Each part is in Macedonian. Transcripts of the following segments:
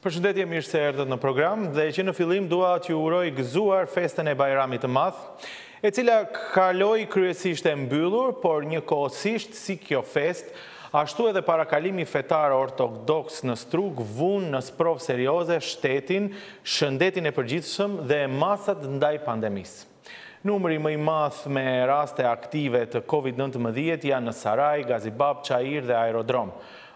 Përshëndetje, mirë se erdhët në program dhe që në fillim dua t'ju uroj gëzuar festën e Bajramit të Madh, e cila kaloi kryesisht e mbyllur, por njëkohësisht si kjo fest, ashtu edhe parakalimi fetar ortodoks në strug vun në sprovë serioze shtetin, shëndetin e përgjithshëm dhe masat ndaj pandemisë. Numri më i madh me raste aktive të COVID-19 janë në Saraj, Gazibab, Çajir dhe Aerodrom.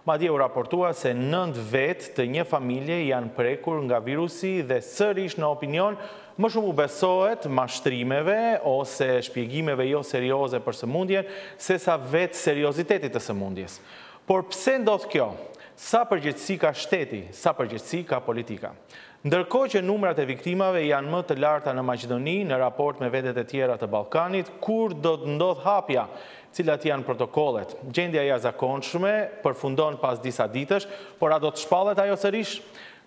Madje u raportua se 9 vetë të një familje janë prekur nga virusi dhe sërish në opinion më shumë u besohet mashtrimeve ose shpjegimeve jo serioze për sëmundjen se sa vetë seriozitetit të sëmundjes. Por pse ndodh kjo? Sa përgjegjësi ka shteti, sa përgjegjësi ka politika? Ndërkohë që numrat e viktimave janë më të larta në Maqedoni në raport me vendet e tjera të Ballkanit, kur do të ndodh hapja, cilat janë protokollet? Gjendja e jashtëzakonshme përfundon pas disa ditësh, por a do të shpallet ajo sërish?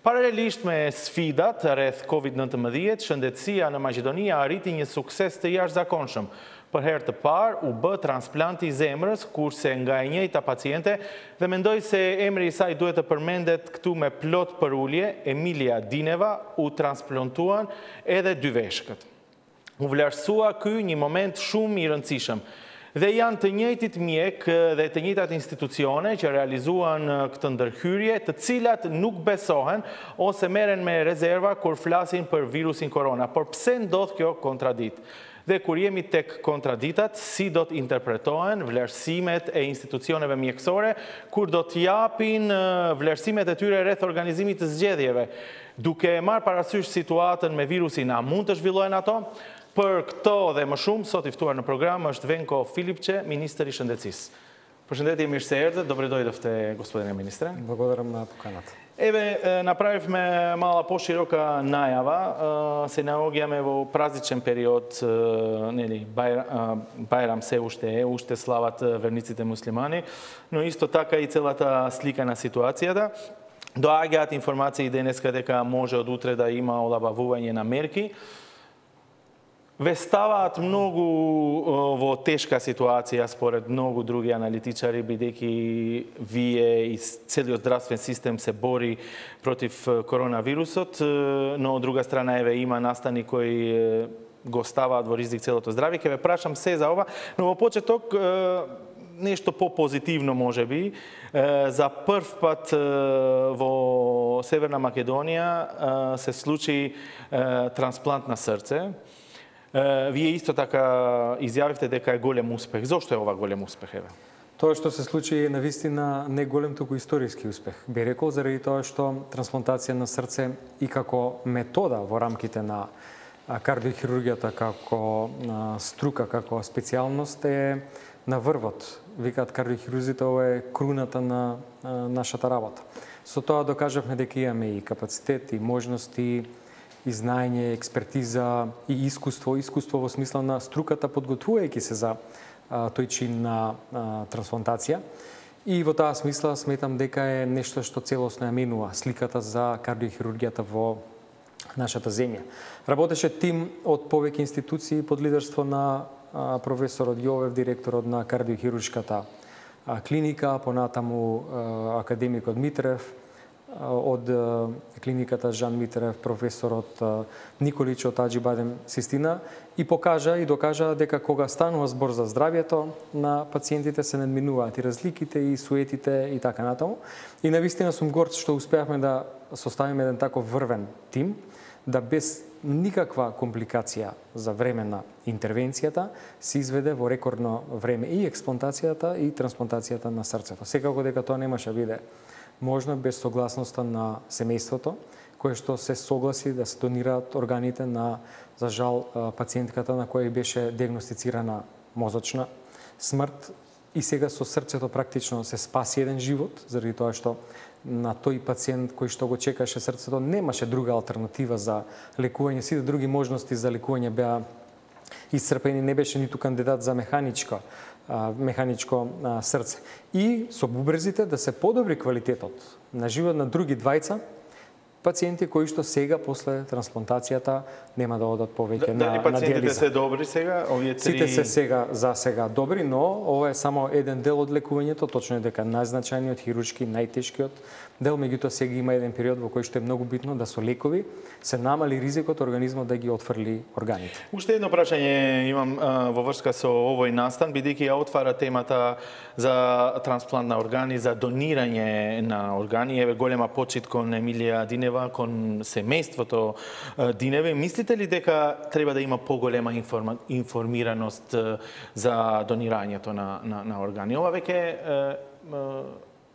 Paralelisht me sfidat rreth COVID-19, shëndetësia në Maqedoni arriti një sukses të jashtëzakonshëm. Për herë të parë u bë transplanti i zemrës, kurse nga e njëjta paciente dhe mendoj se emri i saj duhet të përmendet këtu me plot për ulje, Emilia Dineva, u transplantuan edhe 2 veshkët. U vlerësua ky një moment shumë i rëndësishëm. Dhe janë të njëjtit mjek dhe të njëjtat institucione që realizuan këtë ndërhyrje, të cilat nuk besohen ose merren me rezerva kur flasin për virusin korona. Por pse ndodh kjo kontradikt? Dhe kur jemi tek kontraditat, si do të interpretohen vlerësimet e institucioneve mjekësore, kur do të japin vlerësimet e tyre rreth organizimit të zgjedhjeve. Duke marrë parasysh situatën me virusin, a mund të zhvillohen ato? Për këto dhe më shumë, sot i ftuar në program është Venko Filipçe, Ministër i Shëndetësisë. Përshëndetje, mirë se erdhët, dobrodošli, gospodine ministre. Благодарам на поканата. Еве, направивме мала поширока најава, се наоѓаме во празничен период, нели, Бајрам се уште слават верниците муслимани, но исто така и целата слика на ситуацијата. Доаѓаат информации денеска дека може од утре да има олабавување на мерки. Ве ставаат многу во тешка ситуација според многу други аналитичари, бидејќи вие и целиот здравствен систем се бори против коронавирусот, но од друга страна еве има настани кои го ставаат во ризик целото здравје. Ќе ве прашам се за ова, но во почеток нешто по-позитивно можеби. За прв пат во Северна Македонија се случи трансплант на срце. Вие исто така изјавивте дека е голем успех. Зошто е ова голем успех, еве? Тоа што се случи е навистина не голем, туку историски успех. Би рекол заради тоа што трансплантација на срце и како метода во рамките на кардиохирургијата како струка, како специјалност е на врвот. Викаат кардиохирурзите, ова е круната на нашата работа. Со тоа докажавме дека имаме и капацитет, и можности, и знаење, експертиза и искуство во смисла на струката подготвувајќи се за тој чин на трансплантација. И во таа смисла сметам дека е нешто што целосно ја менува сликата за кардиохирургијата во нашата земја. Работеше тим од повеќе институции под лидерство на професорот Јовев, директорот на кардиохируршката клиника, понатаму академикот Митрев, од клиниката Жан Митрев, професорот Николич од Аџибадем Систина, и покажа и докажа дека кога станува збор за здравјето на пациентите се надминуваат и разликите и суетите и така натаму. И навистина сум горд што успеавме да составиме еден таков врвен тим, да без никаква компликација за време на интервенцијата се изведе во рекордно време и експлантацијата и трансплантацијата на срцето. Секако дека тоа немаше биде можно без согласноста на семејството, кое што се согласи да се донираат органите на, за жал, пациентката на која беше диагностицирана мозочна смрт и сега со срцето практично се спаси еден живот, заради тоа што на тој пациент кој што го чекаше срцето немаше друга алтернатива за лекување, сите други можности за лекување беа исцрпени, не беше ниту кандидат за механичко срце. И со бубрезите да се подобри квалитетот на живот на други двајца пациенти кои што сега после трансплантацијата нема да одат повеќе на диализа. Дали пациентите се добри сега? Сите се за сега добри, но ова е само еден дел од лекувањето, точно е дека најзначајниот хируршки, најтешкиот дел, меѓутоа сега има еден период во кој што е многу битно да со лекови се намали ризикот организмот да ги отфрли органите. Уште едно прашање имам во врска со овој настан, бидејќи ја отвара темата за трансплант на органи, за донирање на органи. Еве голема почит кон Емилија Динева, кон семејството Диневи. Мислите ли дека треба да има поголема информираност за донирањето на органи? Ова веќе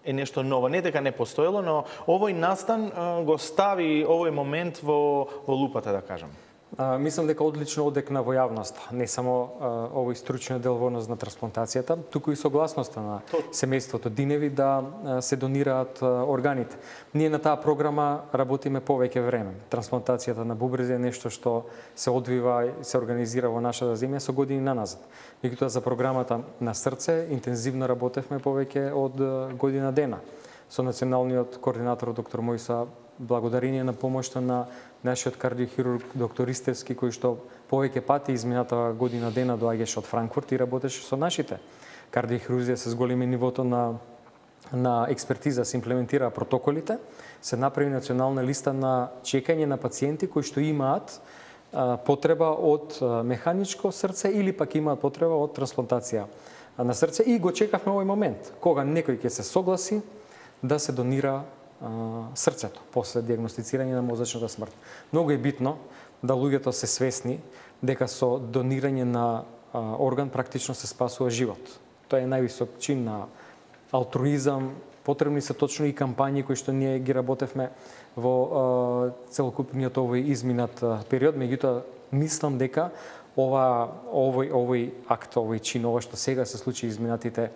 е нешто ново. Не дека не постоело, но овој настан го стави овој момент во лупата, да кажам. Мислам дека одлично одекна во јавноста, не само овој стручниот дел во однос на трансплантацијата, туку и согласноста на семејството Диневи да се донираат органите. Ние на таа програма работиме повеќе време. Трансплантацијата на бубрези е нешто што се одвива и се организира во нашата земја со години наназад. Меѓутоа за програмата на срце интензивно работевме повеќе од година дена. Со националниот координатор доктор Мојса, благодарение на помошта на нашиот кардиохирург доктор Истевски, кој што повеќе пати измината година дена доаѓаше од Франкфурт и работеше со нашите кардиохирурзи, се зголеми нивото на експертиза, се имплементираа протоколите, се направи национална листа на чекање на пациенти кои што имаат потреба од механичко срце или пак имаат потреба од трансплантација на срце и го чекавме овој момент кога некој ќе се согласи да се донира срцето после диагностицирање на мозачната смрт. Многу е битно да луѓето се свесни дека со донирање на орган практично се спасува живот. Тоа е највисок чин на алтруизам. Потребни се точно и кампањи кои што ние ги работевме во целокупниот овој изминат период, меѓутоа мислам дека овој акт, овој чин, ова што сега се случи изминатите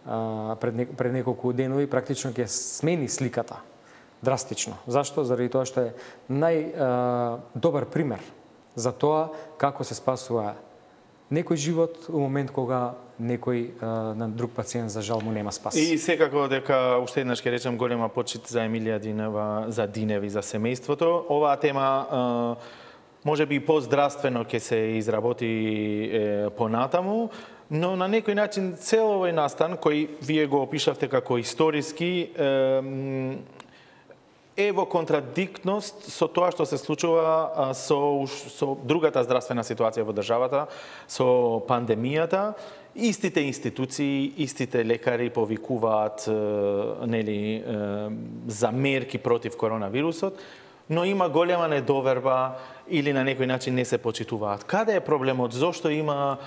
пред неколку денови, практично ќе смени сликата драстично. Зашто? Заради тоа што е најдобар пример за тоа како се спасува некој живот у момент кога некој на друг пациент за жал му нема спас. И секако дека уште еднаш ќе речем голема почит за Емилија Динева, за Диневи, за семејството. Оваа тема може би поздравствено ќе се изработи понатаму, но на некој начин цел овој настан кој вие го опишавте како историски е во контрадиктност со тоа што се случува со другата здравствена ситуација во државата, со пандемијата. Истите институции, истите лекари повикуваат за мерки против коронавирусот, но има голема недоверба или на некој начин не се почитуваат. Каде е проблемот? Зошто има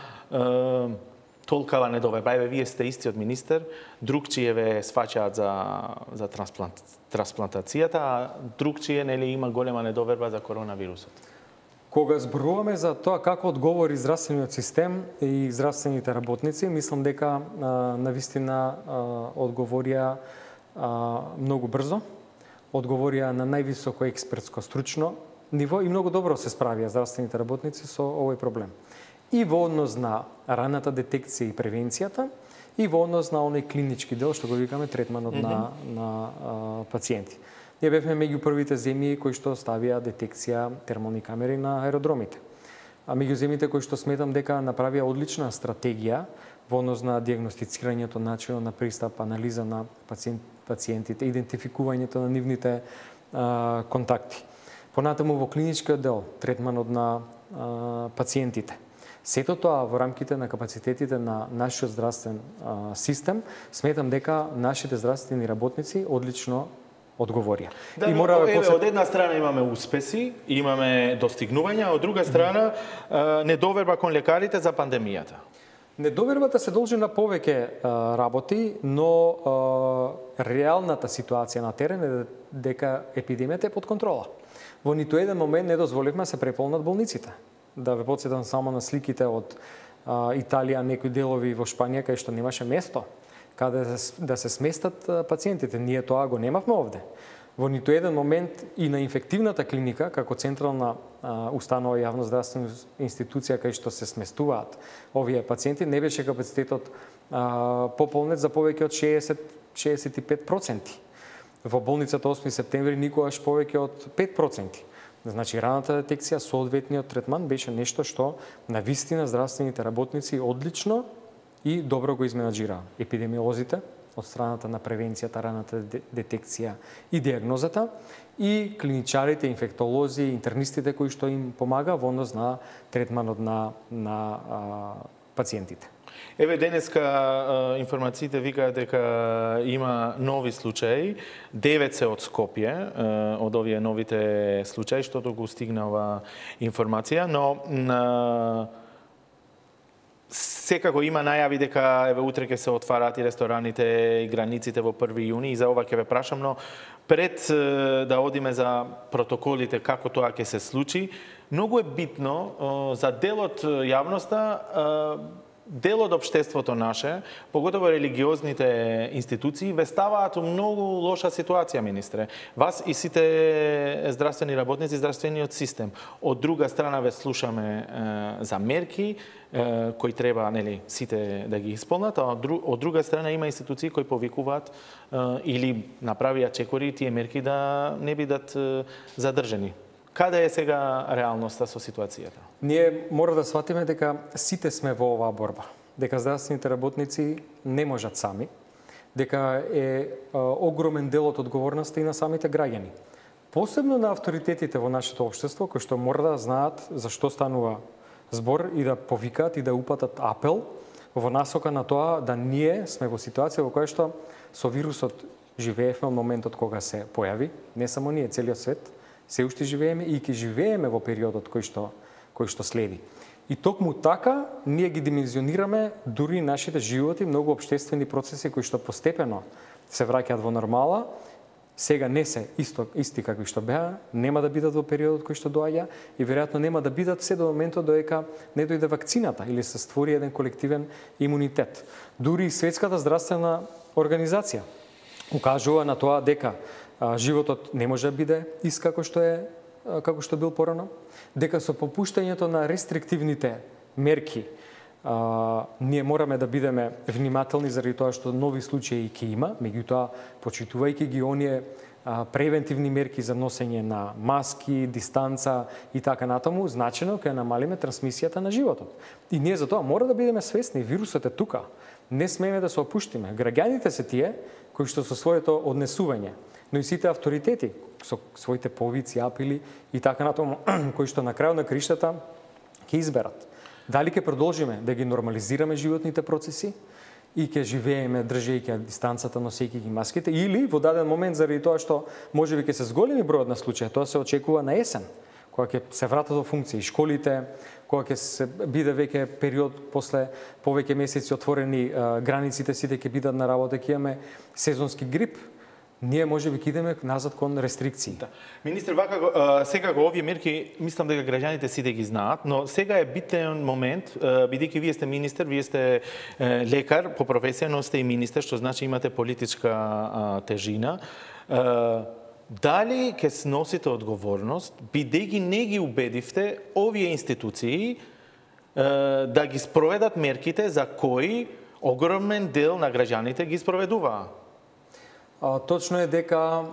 толкава недоверба? Еве, вие сте истиот министер, другчие ве сваќаат за трансплантацијата, а другчие има голема недоверба за коронавирусот. Кога зборуваме за тоа како одговори здравствениот систем и здравствените работници, мислам дека навистина одговорија многу брзо, одговорија на највисоко експертско стручно ниво и многу добро се справија здравствените работници со овој проблем. И во однос на раната детекција и превенцијата, и во однос на оној клинички дел, што го викаме третманот на пациенти. Ние бевме меѓу првите земји кои што ставија детекција термални камери на аеродромите. А меѓу земјите кои што сметам дека направија одлична стратегија во однос на диагностицирањето, начинот на пристап, анализа на пациентите, идентификувањето на нивните контакти. Понатаму во клиничкиот дел, третманот на пациентите. Сето тоа во рамките на капацитетите на нашиот здравствен систем, сметам дека нашите здравствени работници одлично одговорија. Да, од една страна имаме успеси, имаме достигнувања, од друга страна недоверба кон лекарите за пандемијата. Недовербата се должи на повеќе работи, но реалната ситуација на терен е дека епидемијата е под контрола. Во ниту еден момент не дозволивме да се преполнат болниците. Да ве потсетам само на сликите од Италија, некои делови во Шпанија, кај што немаше место каде да се сместат пациентите. Ние тоа го немавме овде. Во ниту еден момент и на инфективната клиника, како централна установа јавно здравствена институција кај што се сместуваат овие пациенти, не беше капацитетот пополнет за повеќе од 60-65%. во болницата 8 септември никогаш повеќе од 5%. Значи, раната детекција, соодветниот третман беше нешто што на вистина здравствените работници одлично и добро го изменаџираа. Епидемиолозите, од страната на превенцијата, раната детекција и диагнозата, и клиничарите, инфектолози, интернистите кои што им помага во однос на третманот на пациентите. Еве денеска информациите викаат дека има нови случаи, 9 се од Скопје, од овие новите случаи, што го стигнава информација, но секако има најави дека еве утре ќе се отвараат и рестораните и границите во 1 јуни, и за ова ќе ве прашам, но пред да одиме за протоколите како тоа ќе се случи, многу е битно за дел од јавноста, дел од општеството наше, поготово религиозните институции, ве ставаат у многу лоша ситуација, министре. Вас и сите здравствени работници, здравствениот систем. Од друга страна ве слушаме за мерки кои треба, нели, сите да ги исполнат, а од друга страна има институции кои повикуваат или направија чекори тие мерки да не бидат задржани. Каде е сега реалноста со ситуацијата? Ние мора да сватиме дека сите сме во оваа борба. Дека здравствените работници не можат сами, дека е огромен дел од одговорноста и на самите граѓани. Посебно на авторитетите во нашето општество, кои што мора да знаат за што станува збор и да повикаат и да упатат апел во насока на тоа да ние сме во ситуација во која што со вирусот живеевме од моментот кога се појави, не само ние, целиот свет, се уште живееме и ќе живееме во периодот кој што следи. И токму така ние ги димензионираме дури нашите животи, многу општествени процеси кои што постепено се враќаат во нормала, сега не се исти какви што беа, нема да бидат во периодот кој што доаѓа и веројатно нема да бидат се до моментот додека не дојде вакцината или се створи еден колективен имунитет. Дури и Светската здравствена организација укажува на тоа дека животот не може да биде ист како што бил порано, дека со попуштањето на рестриктивните мерки ние мораме да бидеме внимателни заради тоа што нови случаи ќе има, меѓутоа почитувајќи ги оние превентивни мерки за носење на маски, дистанца и така натаму, значено ќе намалиме трансмисијата на животот. И ние за тоа мора да бидеме свесни, вирусот е тука. Не смееме да се опуштиме. Граѓаните се тие кои што со своето однесување, но и сите авторитети со своите повици, апели и така натаму, кои што на крајот на криштата ќе изберат. Дали ќе продолжиме да ги нормализираме животните процеси и ќе живееме држејќи дистанцата, носејќи ги маските, или во даден момент заради тоа што можеби ќе се зголеми бројот на случаи, тоа се очекува на есен, кога ќе се вратат во функција и школите, кога ќе се биде веќе период после повеќе месеци отворени границите, сите ќе бидат на работа, ќе имаме сезонски грип, ние можеби ќе идеме назад кон рестрикции. Да. Министр, секако овие мерки мислам дека граѓаните сите ги знаат, но сега е битен момент, бидејќи вие сте министер, вие сте лекар по професија, но сте и министер, што значи имате политичка тежина. Дали ќе сносите одговорност, бидејќи не ги убедивте овие институции да ги спроведат мерките за кои огромен дел на граѓаните ги спроведуваа? Точно е дека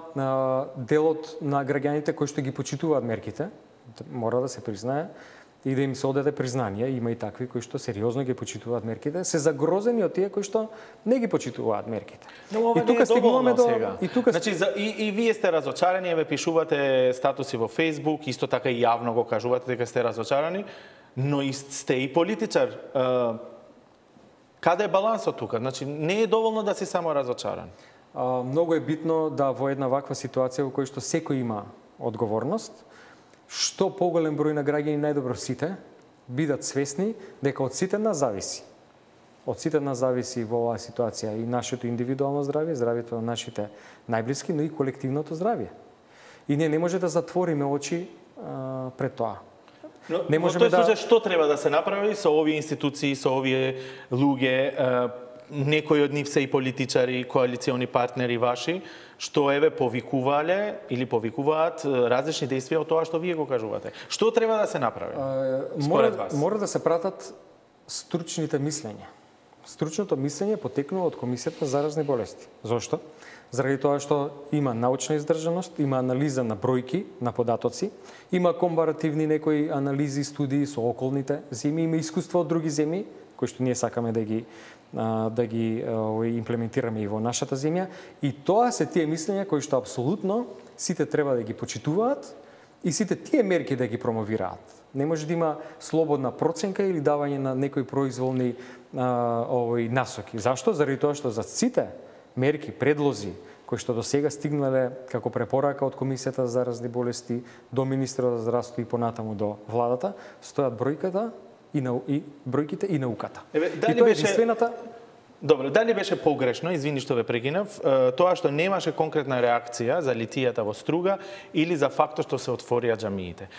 делот на граѓаните кои што ги почитуваат мерките, мора да се признае и да им се одаде признание, има и такви кои што сериозно ги почитуваат мерките, се загрозени од тие кои што не ги почитуваат мерките. Но ова не е доволно сега. Значи, и вие сте разочарани, еве пишувате статуси во Facebook, исто така и јавно го кажувате дека сте разочарани, но и сте и политичар. Каде е балансот тука? Значи, не е доволно да си само разочаран. Многу е битно да во една ваква ситуација во која што секој има одговорност, што поголем број на граѓани, најдобро сите, бидат свесни дека од сите нас зависи. Од сите нас зависи во оваа ситуација и нашето индивидуално здравје, здравјето на нашите најблиски, но и колективното здравје. И ние не може да затвориме очи пред тоа. Но во тој случај што треба да се направи со овие институции, со овие луѓе, некои од нив се и политичари, коалициони партнери ваши, што еве повикувале или повикуваат различни действија од тоа што вие го кажувате. Што треба да се направи според вас? Мора да се пратат стручните мислења. Стручното мислење потекнува од Комисијата за заразни болести. Зошто? Заради тоа што има научна издржаност, има анализа на бројки, на податоци, има компаративни некои анализи, студии со околните земји, има искуство од други земји, кои што ние сакаме да ги имплементираме и во нашата земја. И тоа се тие мислења кои што апсолутно сите треба да ги почитуваат и сите тие мерки да ги промовираат. Не може да има слободна проценка или давање на некои произволни насоки. Зашто? Заради тоа што за сите мерки, предлози, кои што до сега стигнале како препорака од Комисијата за заразни болести до Министерот за здравство и понатаму до владата, стојат бројките и науката. И тоа е единствената. Добро, дали беше погрешно, извини што ве прекинав, тоа што немаше конкретна реакција за литијата во Струга или за фактот што се отворија џамиите?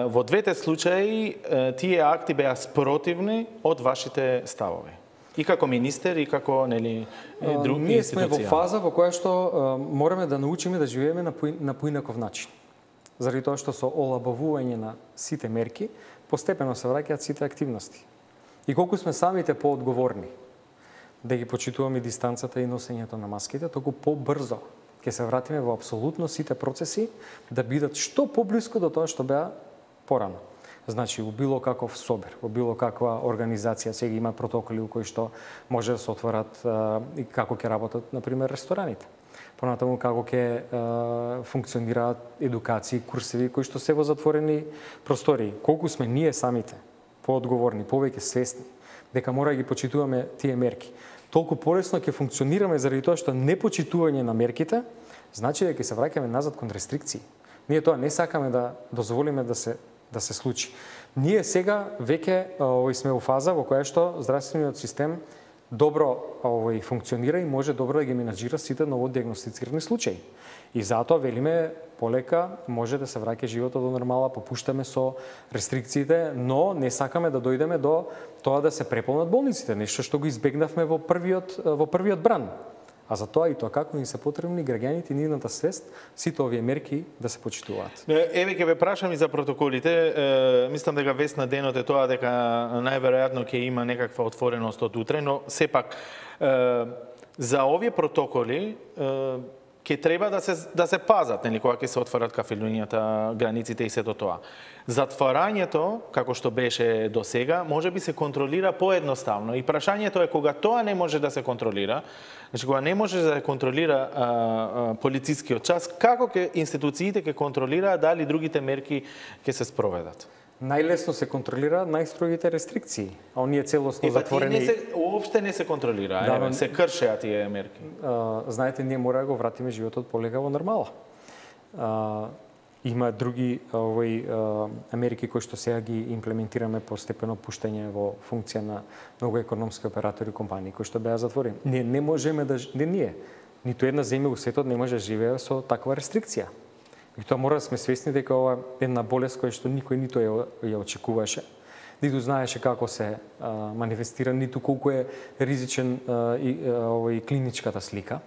Во двете случаи тие акти беа спротивни од вашите ставови. И како министер, и како други институции. Ние сме во фаза во која што мораме да научиме да живееме на поинаков начин. Заради тоа што со олабавување на сите мерки, постепено се враќаат сите активности. И колку сме самите поодговорни да ги почитуваме дистанцата и носењето на маските, толку побрзо ќе се вратиме во апсолутно сите процеси да бидат што поблиску до тоа што беа порано. Значи, во било каков собер, во било каква организација, сега има протоколи у кои што може да се отворат и како ќе работат, например, рестораните. Понатаму како ќе функционираат едукации, курсеви кои што се во затворени простории. Колку сме ние самите поодговорни, повеќе свесни дека мора да ги почитуваме тие мерки, толку полесно ќе функционираме заради тоа што непочитување на мерките значи дека ќе се враќаме назад кон рестрикции. Ние тоа не сакаме да дозволиме да се случи. Ние сега веќе сме во фаза во која што здравствениот систем добро функционира и може добро да ги менаџира сите новодиагностицирани случаи. И затоа велиме полека може да се враќа животот до нормала, попуштаме со рестрикциите, но не сакаме да дојдеме до тоа да се преполнат болниците, нешто што го избегнавме во првиот бран. А за тоа и тоа како ни се потребни граѓаните и нивната свест, сите овие мерки да се почитуваат. Еве ќе ве прашам и за протоколите. Мислам дека вест на денот е тоа дека најверојатно ќе има некаква отвореност од утре, но сепак за овие протоколи ќе треба да се пазат, нели, кога ќе се отворат кафелињата, границите и сето тоа. Затворањето, како што беше до сега, може би се контролира поедноставно. И прашањето е кога тоа не може да се контролира, значи кога не може да се контролира полицискиот час, како институциите ќе контролираат дали другите мерки ќе се спроведат? Најлесно се контролираат најстрогите рестрикции, а оние целосно затворени... Уопште не се контролира, се кршеа тие мерки. Знаете, ние мора да го вратиме животот полека во нормала. Има други мерки кои што сега ги имплементираме постепено пуштање во функција на многу економски оператори и компании кои што беа затворени. Ние не можеме да... Ниту една земја во светот не може да живее со таква рестрикција. И тоа мора да сме свесни дека ова е една болест која што никој ниту ја очекуваше, ниту знаеше како се манифестира, ниту колку е ризичен и клиничката слика.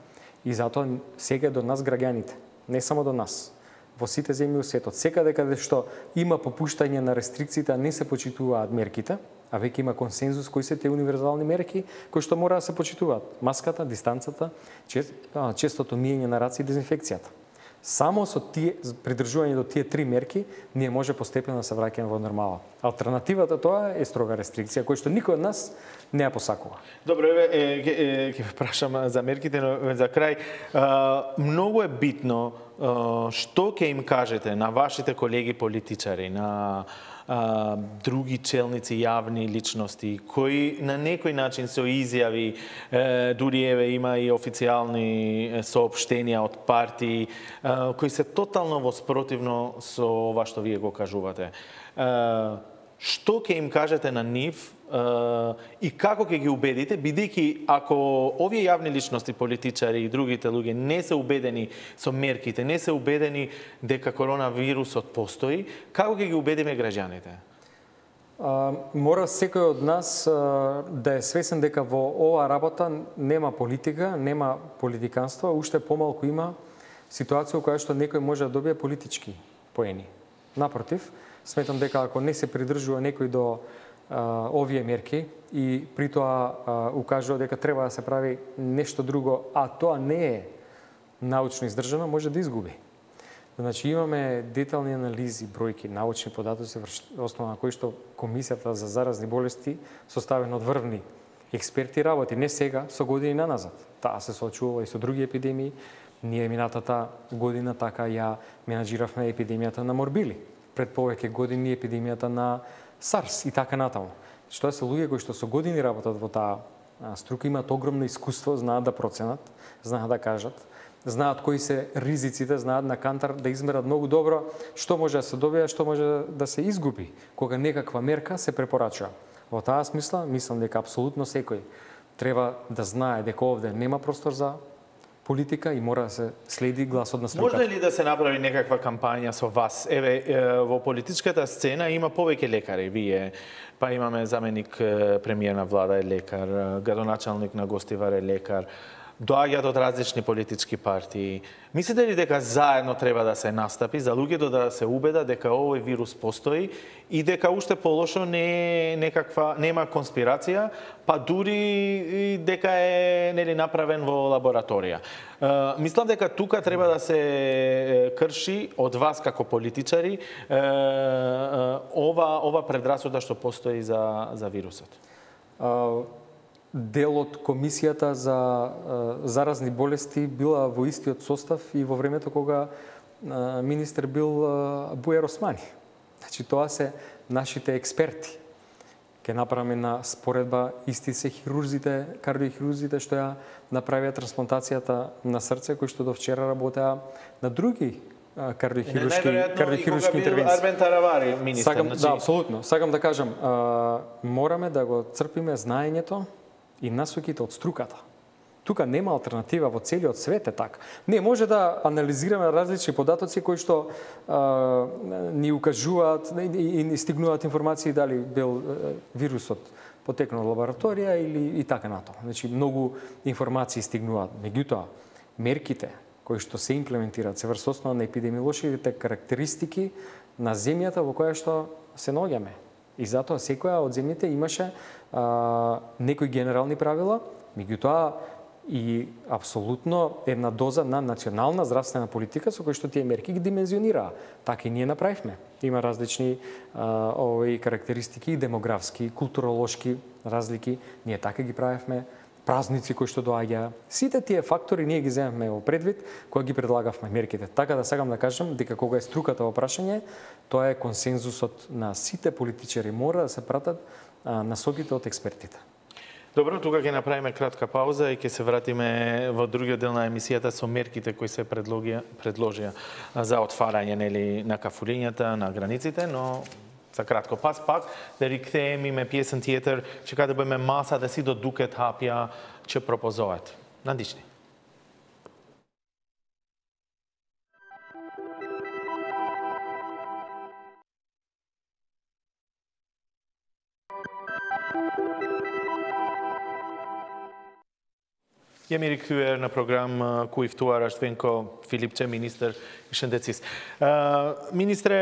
И затоа сега до нас граѓаните, не само до нас, во сите земји во светот, секаде каде што има попуштање на рестрикциите, а не се почитуваат мерките, а веќе има консензус кои се тие универзални мерки кои што мора да се почитуваат: маската, дистанцата, честото миење на раце и дезинфекцијата. Само со придржување до тие три мерки, ние може постепено да се враќаме во нормала. Алтернативата тоа е строга рестрикција, која што никој од нас не ја посакува. Добро, ќе прашам за мерките, но за крај. Многу е битно што ќе им кажете на вашите колеги политичари, на други челници, јавни личности, кои на некој начин со изјави, дури има и официјални соопштенија од партии, кои се тотално воспротивно со ова што вие го кажувате. Што ќе им кажете на нив и како ќе ги убедите, бидејќи ако овие јавни личности, политичари и другите луѓе не се убедени со мерките, не се убедени дека коронавирусот постои, како ќе ги убедиме граѓаните? Мора секој од нас да е свесен дека во оваа работа нема политика, нема политиканство, уште помалку има ситуација во која што некој може да добие политички поени. Напротив, сметам дека ако не се придржува некој до овие мерки и при тоа укажува дека треба да се прави нешто друго, а тоа не е научно издржано, може да изгуби. Значи имаме детални анализи, бројки, научни податоци основа на кои што Комисијата за заразни болести составена од врвни експерти работи не сега, со години наназад. Таа се соочувала и со други епидемии. Ние минатата година така ја менаџиравме епидемијата на морбили. Пред повеќе години епидемијата на SARS и така натаму. Што се луѓе кои што со години работат во таа струка, имаат огромно искуство, знаат да проценат, знаат да кажат, знаат кои се ризиците, знаат на кантар да измерат многу добро што може да се добие, што може да се изгуби кога некаква мерка се препорачува. Во таа смисла, мислам дека апсолутно секој треба да знае дека овде нема простор за политика и мора да се следи гласот на струката. Може ли да се направи некаква кампања со вас? Еве, во политичката сцена има повеќе лекари. Вие, па имаме заменик премиер на влада е лекар, градоначалник на Гостивар е лекар, доаѓаат од различни политички партии. Мислите ли дека заедно треба да се настапи за луѓето да се убедат дека овој вирус постои и дека уште полошо нема конспирација, па дури дека е направен во лабораторија? Мислам дека тука треба да се крши од вас како политичари ова предрасуда што постои за вирусот. Дел од Комисијата за заразни болести била во истиот состав и во времето кога министер бил Бујар Османи. Значи, тоа се нашите експерти. Ке направиме на споредба исти се хирурзите, кардиохирурзите што ја направија трансплантацијата на срце, кои што до вчера работеа на други кардиохируршки интервенции. Арбен Таравари, министер. Да, апсолутно. Сакам да кажам, мораме да го црпиме знаењето и насоките од струката. Тука нема алтернатива, во целиот свет е така. Не може да анализираме различни податоци кои што ни укажуваат и ни стигнуваат информации дали бил вирусот потекнал од лабораторија или и така натаму. Значи многу информации стигнуваат. Меѓутоа, мерките кои што се имплементираат се врз основа на епидемиолошките карактеристики на земјата во која што се наоѓаме. И затоа секоја од земјите имаше некои генерални правила, меѓутоа и апсолутно една доза на национална здравствена политика со кои што тие мерки ги димензионираа. Така и ние направивме. Има различни карактеристики, демографски, културолошки разлики. Ние така ги правевме. Празници кои што доаѓаа. Сите тие фактори ние ги земавме во предвид кога ги предлагавме мерките. Така да сакам да кажам дека кога е струката во прашање, тоа е консензусот на сите политичари, мора да се пратат насоките од експертите. Добро, тука ќе направиме кратка пауза и ќе се вратиме во другиот дел на емисијата со мерките кои се предложија за отварање на кафулињата, на границите, но за кратко пак да рикнеме име песен театр, че каде бъме маса да си додукет хапја, че пропозоат. Надишни. Jemi rikthyer në program ku i ftuar është Venko Filipçe, ministër i shëndetësisë. Ministre,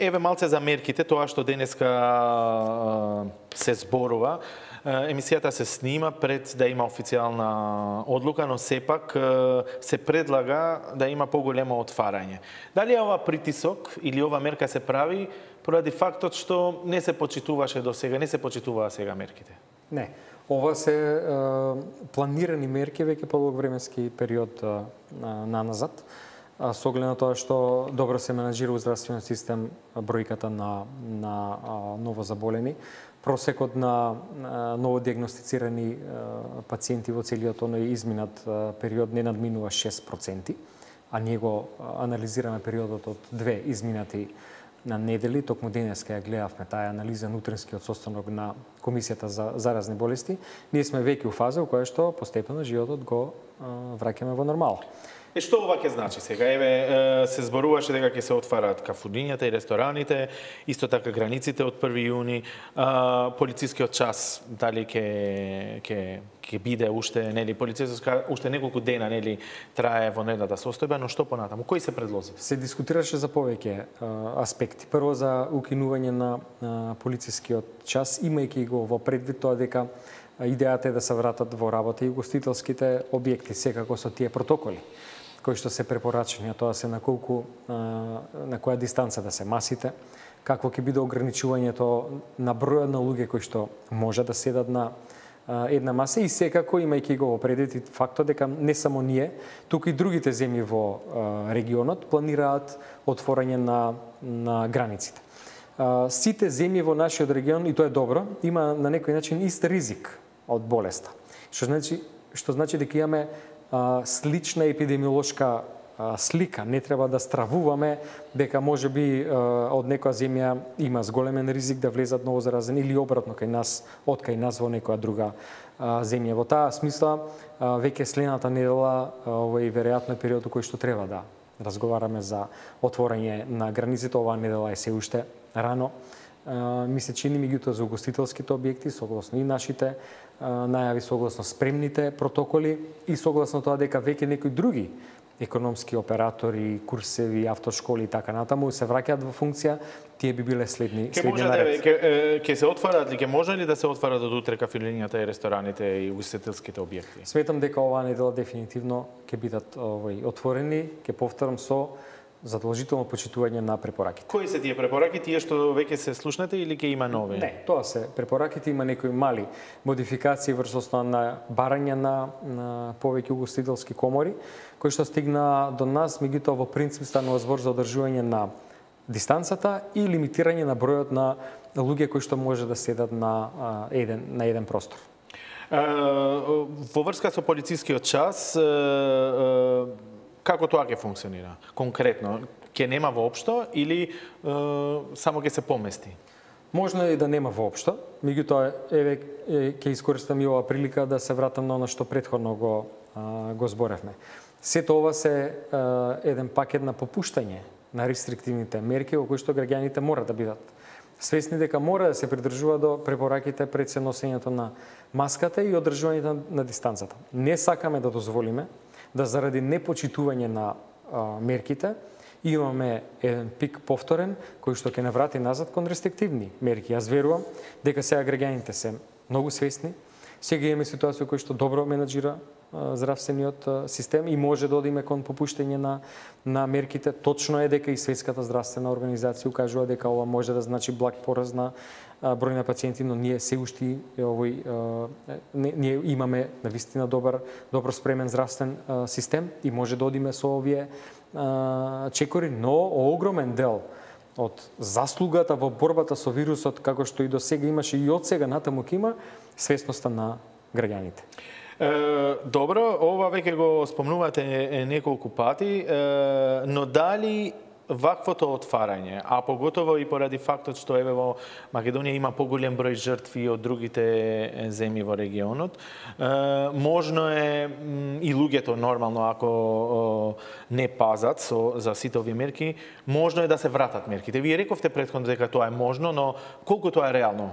еве малце за мерките, тоа што денеска се зборува. Емисијата се снима пред да има официјална одлука, но сепак се предлага да има поголемо отварање. Дали ова притисок или ова мерка се прави поради фактот што не се почитуваше до сега, не се почитуваа сега мерките? Не. Ова се планирани мерки веќе по долг временски период наназад, со оглед на тоа што добро се менаџира здравствениот систем бројката на новозаболени. Просекот на новодиагностицирани пациенти во целиот оној изминат период не надминува 6%, а ние го анализираме периодот од 2 изминати на недели, токму денеска ја гледавме таа анализа на утринскиот состанок на Комисијата за заразни болести. Ние сме веќе у фаза во која што постепено животот го враќаме во нормала. Што ова ќе значи сега? Еве се зборуваше дека ќе се отварат кафунињата и рестораните, исто така границите од 1 јуни, полицискиот час дали ќе биде уште, нели, полицискиот уште неколку дена, нели, трае во неделната состојба, но што понатаму? Кои се предлози? Се дискутираше за повеќе аспекти. Прво за укинување на полицискиот час, имајќи го во предвид тоа дека идејата е да се вратат во работа и угостителските објекти, секако со тие протоколи кои што се препорачани, а тоа се на која дистанца да се масите, какво ќе биде ограничувањето на бројот на луѓе кои што може да седат на една маса и секако имајќи го во предвид фактот дека не само ние, туку и другите земји во регионот планираат отворање на границите. Сите земји во нашиот регион, и тоа е добро, има на некој начин ист ризик од болеста. Што значи дека имаме слична епидемиолошка слика. Не треба да стравуваме дека може би од некоја земја има зголемен ризик да влезат ново заразени или обратно кај нас во некоја друга земја. Во таа смисла веќе следната недела овој веројатно период кој што треба да разговараме за отворање на границите. Оваа недела е се уште рано. Ми се чини меѓутоа за угостителските објекти, согласно и нашите најави, согласно спремните протоколи и согласно тоа дека веќе некои други економски оператори, курсеви, автошколи и така натаму се враќаат во функција, тие би биле следни наред. Ќе се отварат ли, ќе може ли да се отварат од утре кафилињата и рестораните и угостителските објекти? Сметам дека оваа недела дефинитивно ќе бидат отворени, ќе повторам со задолжително почитување на препораките. Кои се тие препораки, тие што веќе се слушнете или ќе има нови? Не, тоа се препораките, има некои мали модификации врз основа на барање на повеќе угостителски комори, кои што стигна до нас, меѓутоа во принцип станува збор за одржување на дистанцата и лимитирање на бројот на луѓе кои што може да седат на еден простор. Во врска со полицискиот час, како тоа ќе функционира? Конкретно, ќе нема воопшто или само ќе се помести? Можно е да нема воопшто, меѓутоа еве ќе искористам и оваа прилика да се вратам на она што претходно го зборевме. Сето ова се еден пакет на попуштање на рестриктивните мерки во кои што граѓаните мора да бидат свесни дека мора да се придржува до препораките пред се носењето на маската и одржувањето на дистанцата. Не сакаме да дозволиме да заради непочитување на мерките имаме еден пик повторен кој што ќе не врати назад кон рестриктивни мерки. Јас верувам дека сега граѓаните се многу свесни. Сега имаме ситуација која што добро менаџира здравствениот систем и може да одиме кон попуштање на мерките. Точно е дека и Светската здравствена организација укажува дека ова може да значи благ пораз на број на пациенти, но ние се уште ние имаме навистина добро спремен здравствен систем и може да одиме со овие чекори, но огромен дел од заслугата во борбата со вирусот, како што и до сега имаше и од сега натаму ќе има, свесноста на граѓаните. Добро, ова веќе го спомнувате неколку пати, но дали ваквото отварање, а поготово и поради фактот што еве во Македонија има поголем број жртви од другите земји во регионот, можно е и луѓето нормално ако не пазат за сите овие мерки, можно е да се вратат мерките. Вие рековте претходно дека тоа е можно, но колку тоа е реално?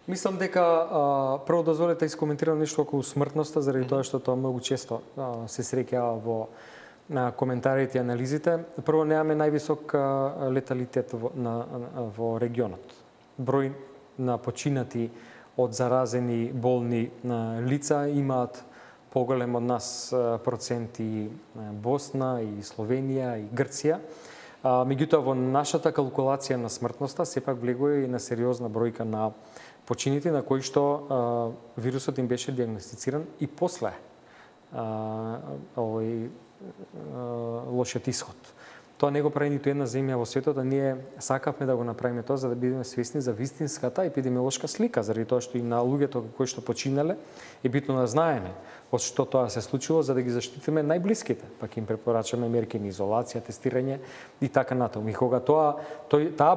Мислам дека прво дозволете да искоментирам нешто околу смртноста, заради тоа што тоа многу често се среќава во на коментарите и анализите. Прво, немаме највисок леталитет во регионот. Број на починати од заразени болни лица имаат поголем од нас проценти Босна и Словенија и Грција. Меѓутоа, во нашата калкулација на смртноста сепак влегува и на сериозна бројка на почините на кои што вирусот им беше диагностициран и после овој лошиот исход. Тоа не го прави ниту една земја во светот, а ние сакавме да го направиме тоа за да бидеме свесни за вистинската епидемиолошка слика, заради тоа што и на луѓето кои што починале е битно да знаеме од што тоа се случило за да ги заштитиме најблиските, пак им препорачаме мерки на изолација, тестирање и така натаму. И кога таа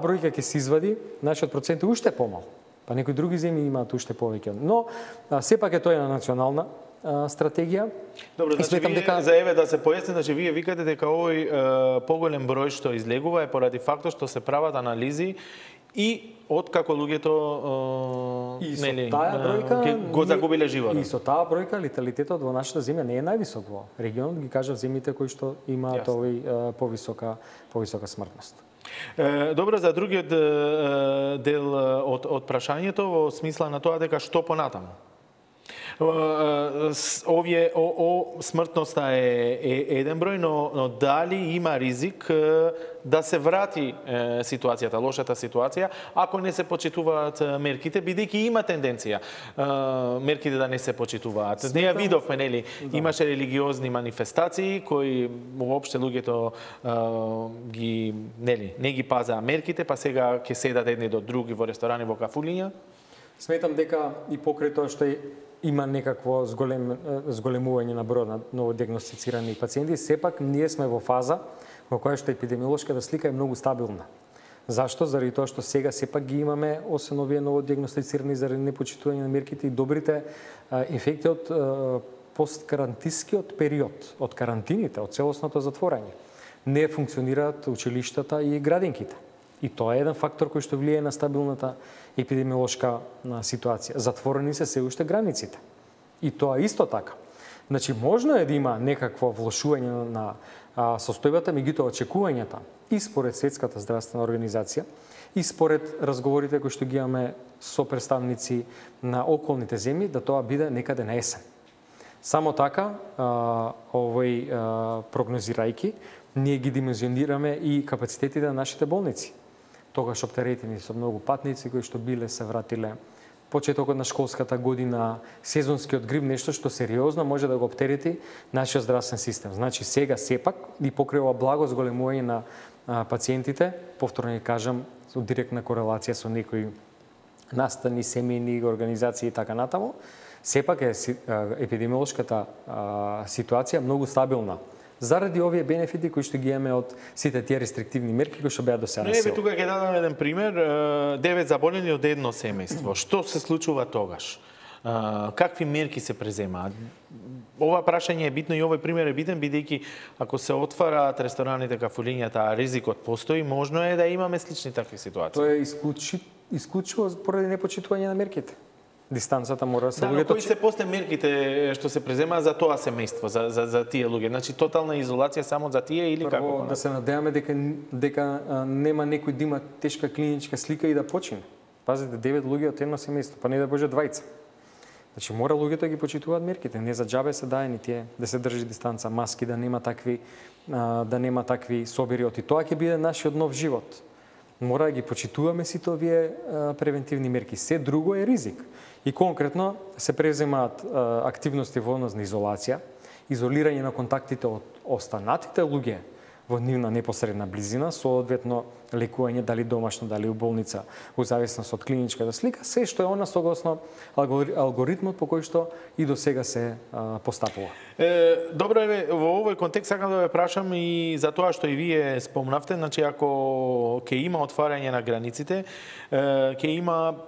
бројка ќе се извади, нашиот процент е уште помал. Па некои други земји имаат уште повеќе. Но сепак е тоа на национална стратегија. Добро, значи вие, за еве да се појасни, значи вие викате дека овој поголем број што излегува е поради фактот што се прават анализи и откако луѓето го загубиле животот. И со таа бројка леталитетот во нашата земја не е највисок во регионот, ги кажав земјите кои што имаат овој повисока смртност. Добро, за другиот дел од прашањето во смисла на тоа дека што понатаму? Смртноста е еден број, но дали има ризик да се врати ситуацијата, лошата ситуација, ако не се почитуваат мерките, бидејќи има тенденција мерките да не се почитуваат. Не ја видовме, нели, имаше религиозни манифестации кои воопште луѓето не ги пазаа мерките, па сега ќе седат едни до други во ресторани, во кафулиња. Сметам дека и покрај тоа што има некакво зголемување на бројот на новодиагностицирани пациенти, сепак ние сме во фаза во која што епидемиолошката слика е многу стабилна. Зашто? Заради тоа што сега сепак ги имаме, освен овие новодиагностицирани заради непочитување на мерките и добрите ефекти од посткарантинскиот период, од карантините, од целосното затворање. Не функционираат училиштата и градинките. И тоа е еден фактор кој што влијае на стабилната епидемиолошка ситуација. Затворени се уште границите. И тоа исто така. Значи, можно е да има некакво влошување на состојбата, меѓутоа очекувањата и според Светската здравствена организација, и според разговорите кои што ги имаме со представници на околните земји, да тоа биде некаде на есен. Само така, прогнозирајќи, ние ги димензионираме и капацитетите на нашите болници. Тогаш оптеретени со многу патници кои што биле се вратиле почетокот на школската година, сезонскиот грип, нешто што сериозно може да го оптерети нашиот здравствен систем. Значи сега сепак и покрај ова благо зголемување на пациентите, повторно ќе кажам, со директна корелација со некои настани, семејни организации и така натаму, сепак е епидемиолошката ситуација многу стабилна. Заради овие бенефити кои што ги имаме од сите тие рестриктивни мерки кои што беа до сега на сила. Тука ќе дадам еден пример, 9 заболени од едно семејство. Што се случува тогаш? Какви мерки се преземаат? Ова прашање е битно и овој пример е битен, бидејќи ако се отвараат рестораните, кафулињата, а ризикот постои, можно е да имаме слични такви ситуации. Тоа е исклучиво поради непочитување на мерките. Дистанцата мора да се луѓето. Кои се после мерките што се преземаат за тоа семејство, за тие луѓе? Значи тотална изолација само за тие или како? Прво да се надеваме дека нема некој да има тешка клиничка слика и да почине. Пазите, 9 луѓе од едно семејство, па не да боже 20. Значи мора луѓето да ги почитуваат мерките, не за џабе се даени тие да се држи дистанца, маски, да нема такви собири, и тоа ќе биде нашиот нов живот. Мора да ги почитуваме сите овие превентивни мерки. Се друго е ризик. И конкретно се преземаат активности во однос на изолација, изолирање на контактите од останатите луѓе во нивна непосредна близина, соодветно лекување дали домашно, дали у болница, во зависност од клиничката слика, се што е она согласно алгоритмот по кој што и до сега се постапува. Добро, во овој контекст сакам да ве прашам и за тоа што и вие спомнавте, значи ако ќе има отварање на границите, ќе има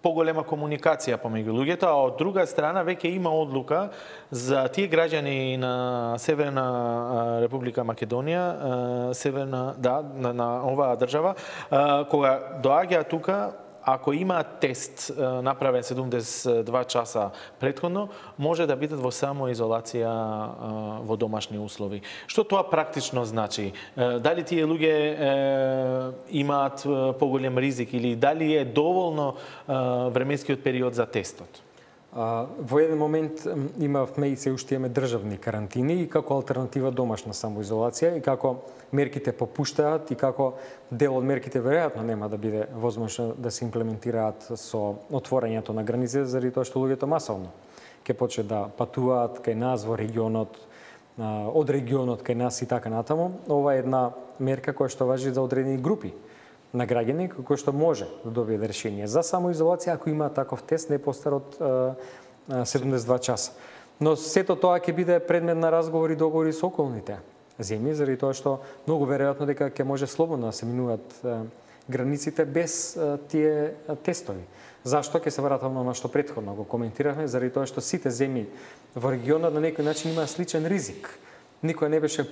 поголема комуникација помеѓу луѓето, а од друга страна веќе има одлука за тие граѓани на Северна Република Македонија, на оваа држава, кога доаѓаат тука, ако има тест направен 72 часа претходно, може да бидат во самоизолација во домашни услови. Што тоа практично значи? Дали тие луѓе имаат поголем ризик или дали е доволно временскиот период за тестот? Во еден момент имавме и се уште имаме државни карантини и како алтернатива домашна самоизолација и како мерките попуштаат и како дел од мерките веројатно нема да биде возможно да се имплементираат со отворањето на границите заради тоа што луѓето масовно ќе почне да патуваат кај нас во регионот, од регионот кај нас и така натаму. Ова е една мерка која што важи за одредени групи на граѓани кој што може да добие решение за самоизолација ако има таков тест не постар од 72 часа. Но сето тоа ќе биде предмет на разговори и договори со околните земји, заради тоа што многу веројатно дека ќе може слободно да се минуваат границите без тие тестови. Зашто? Ќе се вратам на што претходно го коментиравме, заради тоа што сите земји во регионот на некој начин имаат сличен ризик. Никој не беше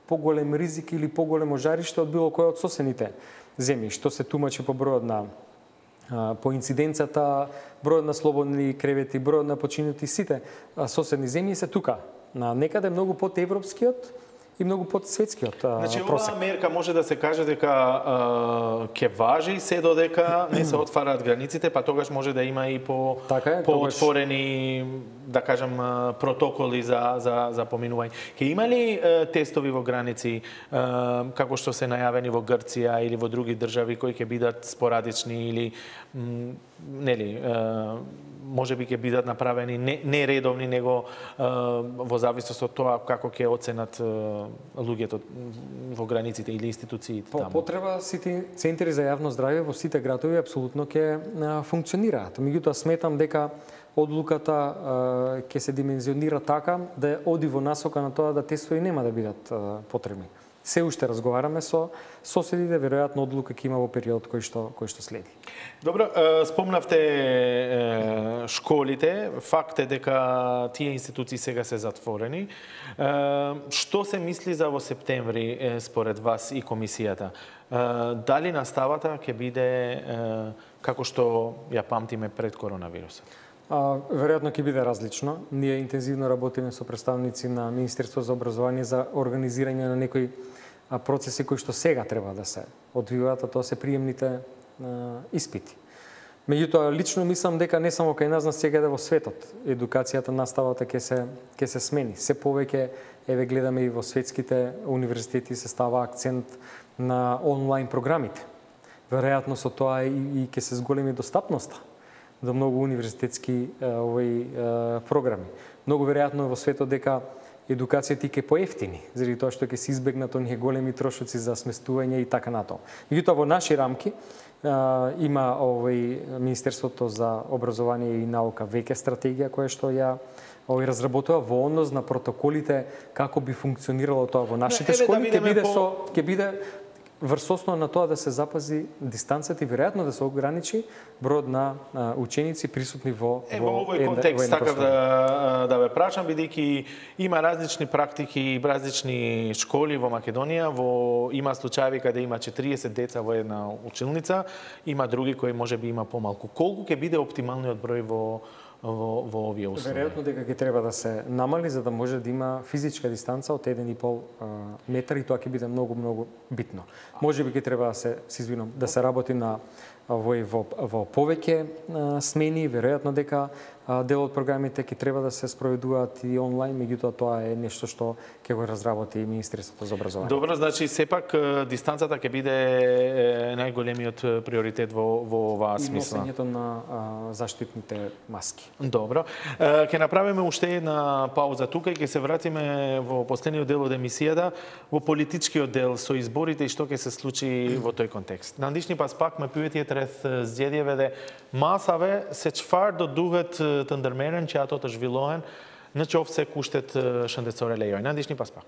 поголем ризик или поголемо жариште од било кој од соседните земји, што се тумачи по бројот на по инциденцата, бројот на слободни кревети, бројот на починати, сите соседни земји се тука, на некаде многу под европскиот и многу под светскиот Значи, просек. оваа мерка може да се каже дека ќе важи се додека не се отвараат границите, па тогаш може да има и по-отворени, да кажам, протоколи за поминување. Ќе има ли тестови во граници, како што се најавени во Грција или во други држави, кои ќе бидат спорадични или нели, може би ќе бидат направени не редовни, него во зависност од тоа како ќе оценат луѓето во границите или институциите таму. Потреба сите центри за јавно здравје во сите градови апсолутно ќе функционираат. Меѓутоа сметам дека одлуката ќе се димензионира така да оди во насока на тоа да тестови нема да бидат потребни. Се уште разговараме со соседите, веројатно одлука ќе има во период кој што следи. Добро, спомнавте школите, факт е дека тие институции сега се затворени. Што се мисли за во септември според вас и комисијата? Дали наставата ќе биде како што ја памтиме пред коронавирусот? Веројатно ќе биде различно. Ние интензивно работиме со представници на Министерството за образование за организирање на некои процеси кои што сега треба да се одвиваат, а тоа се приемните испити. Меѓутоа, лично мислам дека не само кај нас, но сега во светот, едукацијата, наставата ќе се смени. Се повеќе, еве гледаме и во светските универзитети се става акцент на онлайн програмите. Веројатно со тоа и ќе се зголеми достапноста до многу универзитетски програми. Многу веројатно во светот дека едукацијата ќе поевтини, заради тоа што ќе се избегнат оние големи трошоци за сместување и така натаму. Меѓутоа во наши рамки има Министерството за образование и наука веќе стратегија која што ја разработува во однос на протоколите како би функционирало тоа во нашите школи, ќе биде врз основа на тоа да се запази дистанцата и веројатно да се ограничи бројот на ученици присутни во овој контекст сакав да ве прашам, бидејќи има различни практики, различни школи во Македонија, има случаи каде има 40 деца во една училница, има други кои можеби има помалку. Колку ќе биде оптималниот број во овие услови? Веројатно дека ќе треба да се намали за да може да има физичка дистанца од 1,5 метар и тоа ќе биде многу битно. Можеби ќе треба да се работи на во повеќе смени, веројатно дека дел од програмите ќе треба да се спроведуваат и онлайн, меѓутоа тоа е нешто што ќе го разработи Министерството за образование. Добро, значи сепак дистанцата ќе биде најголемиот приоритет во оваа смисла. И носењето на заштитните маски. Добро. Ќе направиме уште една пауза тука и ќе се вратиме во последниот дел од емисијата, во политичкиот дел со изборите и што ќе се случи во тој контекст. Нандишни пас пак ме пиветије трет зједјеве масаве се чфар до дугат të ndërmeren që ato të zhvillohen në qoftë se kushtet shëndetësore lejojnë. Na ndiqni pas pak.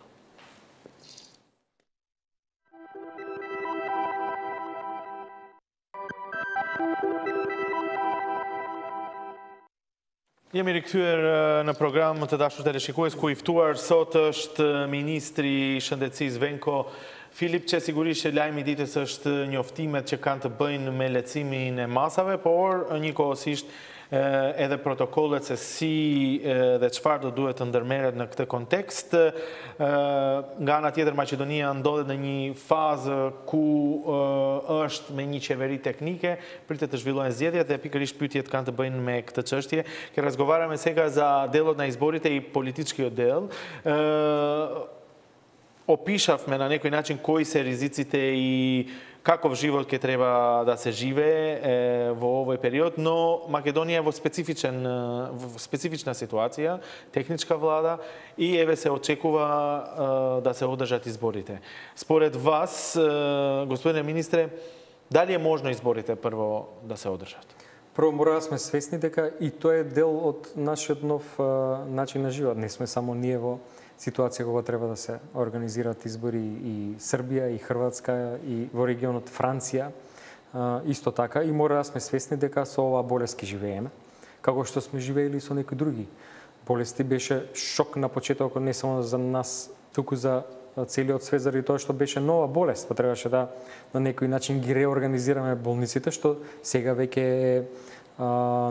Jemi rikthyer në program të dashur teleshikues ku i ftuar sot është Ministri i Shëndetësisë Venko Filip, që sigurisht që lajmi i ditës është njoftimet që kanë të bëjnë me lehtësimin e masave, por njëkohësisht edhe protokollet se si dhe çfarë do duhet të ndërmerret në këtë kontekst. Nga ana tjetër, Maqedonia ndodhet në një fazë ku është me një qeveri teknike, pritet të zhvillohen zgjedhjet dhe pikërisht pyetjet kanë të bëjnë me këtë çështje. Që razgovarame сега за делот на изборите и политичкиот дел. Опишавме на некој начин кои се ризиците и каков живот ќе треба да се живее во овој период, но Македонија е во специфична ситуација, техничка влада и еве се очекува да се одржат изборите. Според вас, господине министре, дали е можно изборите прво да се одржат? Прво мора да сме свесни дека и тоа е дел од нашиот нов начин на живот. Не сме само ние во ситуација кога треба да се организираат избори и Србија, и Хрватска, и во регионот Франција исто така и мора да сме свесни дека со оваа болест ки живееме, како што сме живеели со некои други болести. Беше шок на почетокот не само за нас, туку за целиот свет, заради тоа што беше нова болест, па требаше да на некој начин ги реорганизираме болниците, што сега веќе е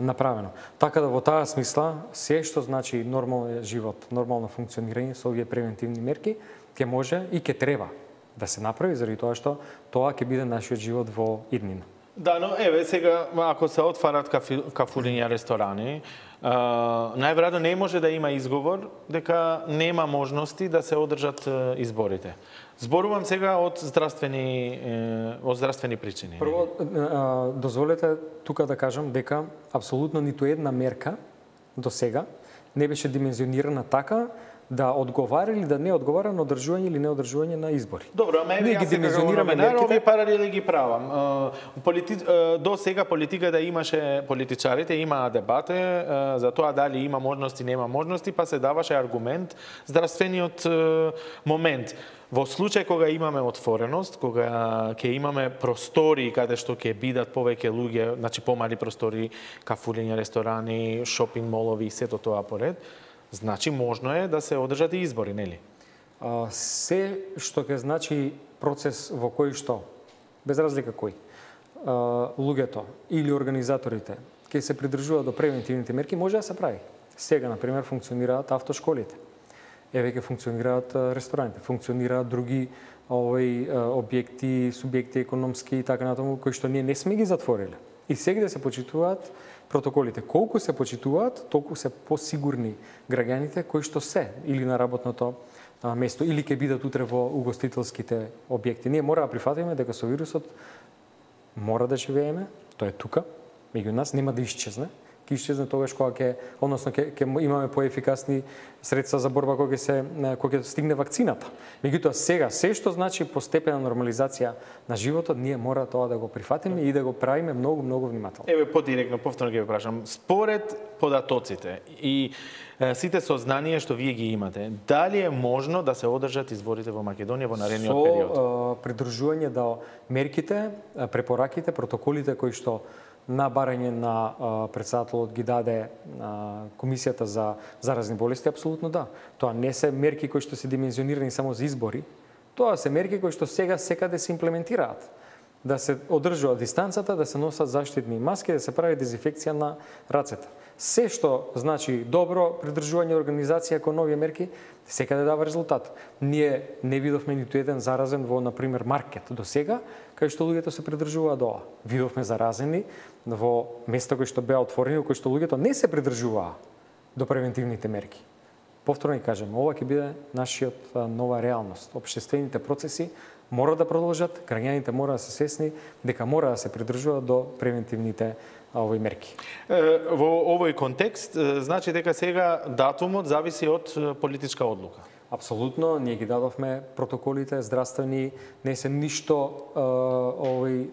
направено. Така да во таа смисла, се што значи нормален живот, нормално функционирање со овие превентивни мерки, ќе може и ќе треба да се направи, заради тоа што тоа ќе биде нашиот живот во иднина. Да, но еве сега ако се отварат кафулиња, ресторани, најверојатно не може да има изговор дека нема можности да се одржат изборите. Зборувам сега од здравствени причини. Прво, дозволете тука да кажам дека апсолутно ниту една мерка до сега не беше димензионирана така да одговара или да не одговара на одржување или неодржување на избори. Добро, ама ние ги димензионираме мерките. Овие паралели ги правам. До сега политиката имаше, политичарите имаа дебате за тоа дали има можности, нема можности, па се даваше аргумент здравствениот момент. Во случај кога имаме отвореност, кога ќе имаме простори каде што ќе бидат повеќе луѓе, значи помали простори, кафулиња, ресторани, шопинг молови и сето тоа поред, значи можно е да се одржат и избори, нели? Се што ќе значи процес во кој што, без разлика кој, луѓето или организаторите ќе се придржуваат до превентивните мерки, може да се прави. Сега, например, функционираат автошколите. Еве ќе функционираат рестораните, функционираат други објекти, субјекти економски и така натаму, кои што ние не сме ги затвориле. И сега да се почитуваат протоколите. Колку се почитуваат, толку се посигурни граѓаните кои што се или на работното место, или ќе бидат утре во угостителските објекти. Ние мора да прифатиме дека со вирусот мора да живееме, тоа е тука, меѓу нас, нема да исчезне. Ќе исчезне тогаш кога ќе имаме поефикасни средства за борба кога ќе стигне вакцината. Меѓутоа сега се што значи постепена нормализација на животот, ние мора тоа да го прифатиме и да го правиме многу внимателно. Еве подиректно повторно ќе ве прашам, според податоците и сите сознанија што вие ги имате, дали е можно да се одржат изборите во Македонија во наредниот период? Со придржување до мерките, препораките, протоколите кои што на барање на председателот ги даде Комисијата за заразни болести, апсолутно да. Тоа не се мерки кои што се димензионирани само за избори, тоа се мерки кои што сега секаде се имплементираат. Да се одржува дистанцата, да се носат заштитни маски, да се прави дезинфекција на рацете. Се што значи добро придржување организација кон овие мерки, секаде дава резултат. Ние не видовме ниту еден заразен во, например, маркет до сега, кај што луѓето се придржуваат до ова. Видовме заразени во места кои што беа отворени, кои што луѓето не се придржуваа до превентивните мерки. Повторно и кажем, ова ќе биде нашиот нова реалност. Општествените процеси мора да продолжат, граѓаните мора да се свесни дека мора да се придржуваат до превентивните мерки. Во овој контекст, значи дека сега датумот зависи од политичка одлука. Апсолутно, ние ги дадовме протоколите здравствени, не се ништо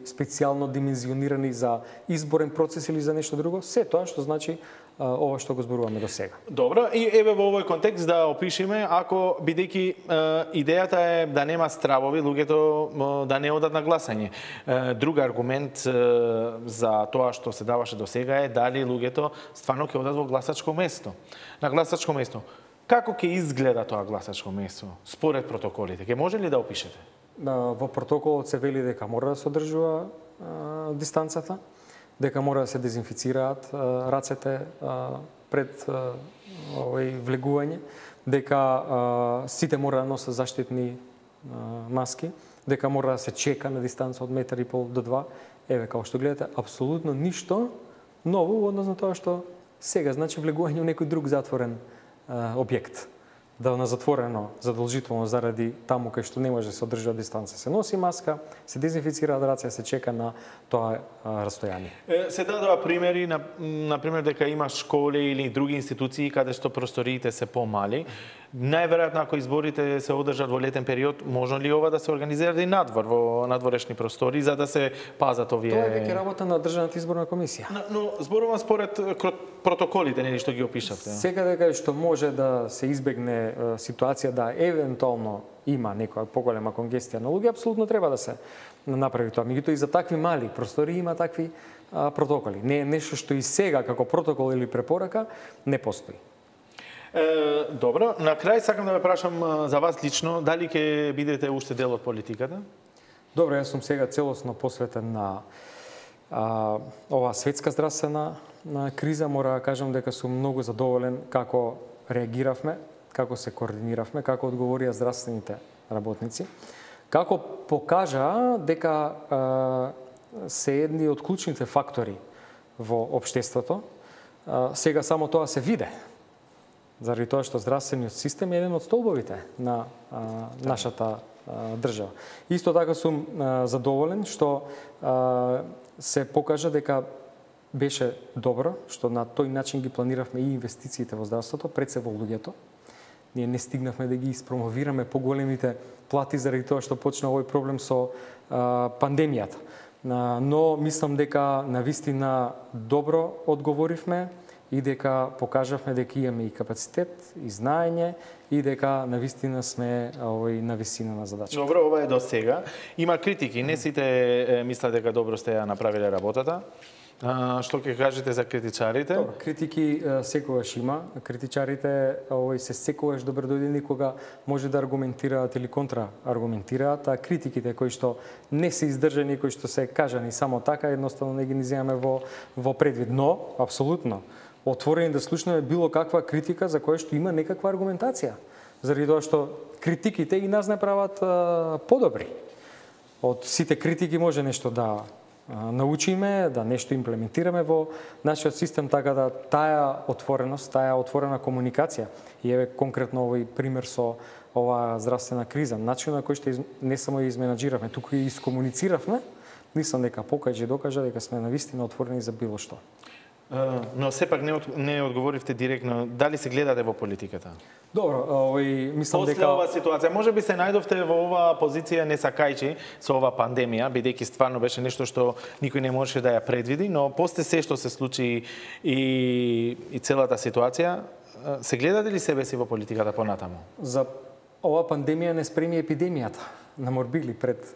специјално димензионирани за изборен процес или за нешто друго, се тоа што значи ова што го зборуваме до сега. Добро, и еве во овој контекст да опишеме, ако бидејќи идејата е да нема стравови, луѓето да не одат на гласање. Друг аргумент за тоа што се даваше до сега е дали луѓето стварно ќе одат во гласачко место. На гласачко место. Како ќе изгледа тоа гласачко место според протоколите? Ќе може ли да опишете? Во протоколот се вели дека мора да се одржува дистанцата, дека мора да се дезинфицираат рацете пред влегување, дека сите мора да носат заштитни маски, дека мора да се чека на дистанца од 1,5 метри до 2. Еве, како што гледате, апсолутно ништо ново во однос на тоа што сега значи влегување во некој друг затворен објект. Да на затворено задолжително заради таму кај што не може да се одржува дистанца. Се носи маска, се дезинфицираат раце, се чека на тоа растојание. Се дадува примери, например дека има школи или други институции каде што просториите се помали. Најверојатно ако изборите се одржат во летен период, можно ли ова да се организира и надвор во надворешни простори за да се пазат овие? Тоа е веќе работа на Државната изборна комисија. Но зборувам според протоколите, нели што ги опишавте. Сега дека што може да се избегне ситуација да евентуално има некоја поголема конгестија на луѓе, апсолутно треба да се направи тоа. Меѓутоа и за такви мали простори има такви протоколи. Не е нешто што и сега како протокол или препорака не постои. Добро, на крај сакам да ве прашам за вас лично, дали ќе бидете уште дел од политиката? Добро, јас сум сега целосно посветен на оваа светска здравствена криза. Мора да кажам дека сум многу задоволен како реагиравме, како се координиравме, како одговорија здравствените работници, како покажа дека се едни од клучните фактори во општеството. Сега само тоа се виде, заради тоа што здравствениот систем е еден од столбовите на нашата држава. Исто така сум задоволен што се покажа дека беше добро, што на тој начин ги планиравме и инвестициите во здравството, пред се во луѓето. Ние не стигнавме да ги испромовираме поголемите плати заради тоа што почна овој проблем со пандемијата. Но мислам дека навистина добро одговоривме и дека покажавме дека имаме и капацитет, и знаење, и дека навистина сме на висина на задачата. Добро, ова е до сега. Има критики, не сите мислат дека добро сте ја направиле работата. Што ќе кажете за критичарите? Добро, критики секогаш има. Критичарите се секогаш добродојдени кога може да аргументираат или контрааргументираат, а критиките кои што не се издржани, кои што се кажани само така, едноставно не ги земаме во предвид. Но, апсолутно, отворени да слушнеме било каква критика за која што има некаква аргументација. Заради тоа што критиките и нас не прават подобри. Од сите критики може нешто да научиме, да нешто имплементираме во нашиот систем, така да таа отвореност, таа отворена комуникација, и еве конкретно овој пример со оваа здравствена криза, начинот на кој што не само ја изменаџиравме, туку и искомунициравме, мислам дека покажа и докажа дека сме навистина отворени за било што. Но сепак не одговоривте директно, дали се гледате во политиката? Добро, мислам дека... После оваа ситуација, може би се најдовте во оваа позиција не сакајчи со оваа пандемија, бидејќи стварно беше нешто што никој не можеше да ја предвиди, но после се што се случи и целата ситуација, се гледате ли себе си во политиката понатаму? За оваа пандемија не спреми епидемијата на морбили пред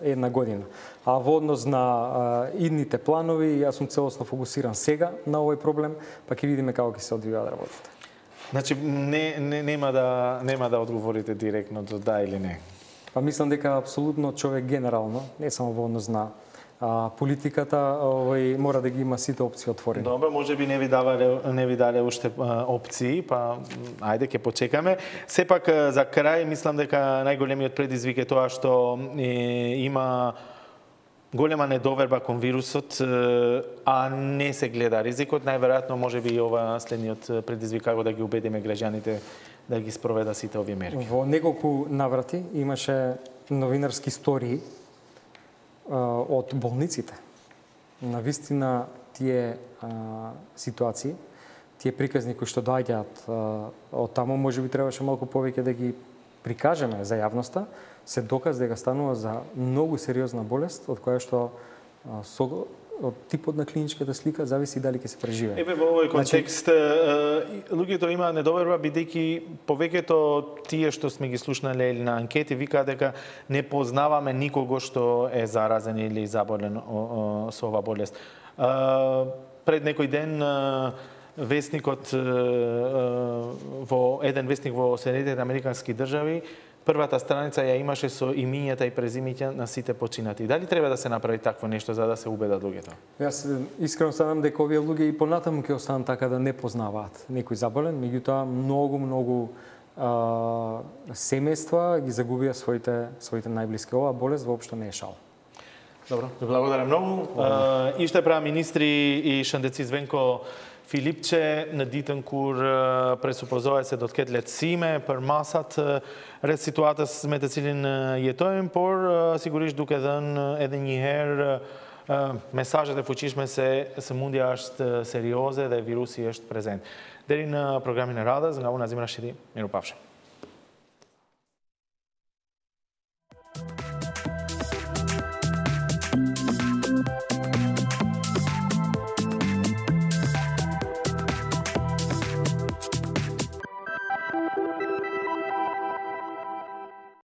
една година. А во однос на идните планови, јас сум целосно фокусиран сега на овој проблем, па ќе видиме како ќе се одвиваат работите. Значи, нема да одговорите директно до да или не? Па мислам дека апсолутно човек генерално, не само во однос на политиката, мора да ги има сите опции отворени. Добро, може би не ви дале уште опции, па ајде ќе почекаме. Сепак за крај мислам дека најголемиот предизвик е тоа што има голема недоверба кон вирусот, а не се гледа ризикот. Најверојатно може би ова следниот предизвик како да ги убедиме граѓаните да ги спроведат сите овие мерки. Во неколку наврати имаше новинарски стории од болниците. Навистина тие ситуации, тие приказни кои што доаѓаат од таму, може би требаше малку повеќе да ги прикажеме за јавноста, се доказ дека станува за многу сериозна болест, од која што од типот на клиничката слика зависи дали ќе се преживее. Еве во овој контекст, луѓето имаат недоверба бидејќи повеќето тие што сме ги слушнале или на анкети викаат дека не познаваме никого што е заразен или заболен со оваа болест. Пред некој ден весникот во еден весник во Соединетите Американски држави првата страница ја имаше со имињата и презимињата на сите починати. Дали треба да се направи такво нешто за да се убедат луѓето? Јас искрено станам дека овие луѓе и понатаму ќе останат така да не познаваат некој заболен, меѓутоа многу семејства ги загубија своите најблиски. Оваа болест воопшто не е шал. Добро, благодарам многу. И што права министри и Шандеци Звенко Филипче, на Дитенкур пресупозоја се доткетлет симе, пар масат, ред ситуатас ме të cilin jetojmë, por sigurisht duke dhënë edhe një herë месажот е фучишме се мундија është сериозе dhe virusi është prezent. Deri në programin e radhës, nga unë Azim Rashidi, mirupafshim.